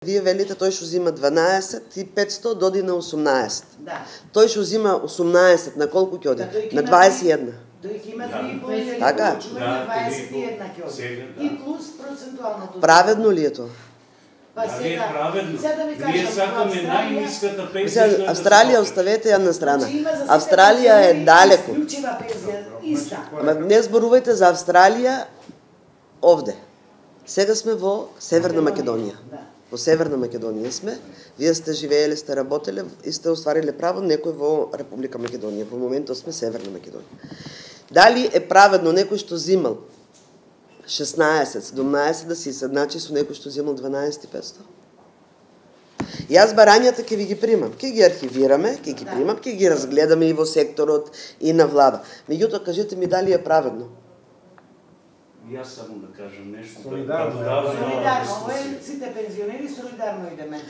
Вие велите тој што зима 12 и 500 доди на 18. Да. Тој што зима 18 на колку ќе оди? На 21. Тој ќе има 3,5 Така? на 21 ќе оди. И плюс процентуалното. Праведно ли е тоа? Па сега, праведно. да ви кажам, Ние сакаме најниската пензија. Австралија оставете ја на страна. Австралија е далеку. Исклучива пензија иста. Ама не зборувајте за Австралија овде. Сега сме во Северна Македонија. Во Северна Македонија сме. Вие сте живееле, сте работеле и сте оствариле право некој во Република Македонија. Во моментот сме Северна Македонија. Дали е праведно некој што зимал 16, 17 да се изедначи со некој што земал 12.500? Јас барањата ќе ви ги примам, ќе ги архивираме, ќе ги примам, ќе ги разгледаме и во секторот и на влада. Меѓутоа кажете ми дали е праведно? Јас само да кажам нешто. Солидарно, ова е сите пензионери солидарно идеме.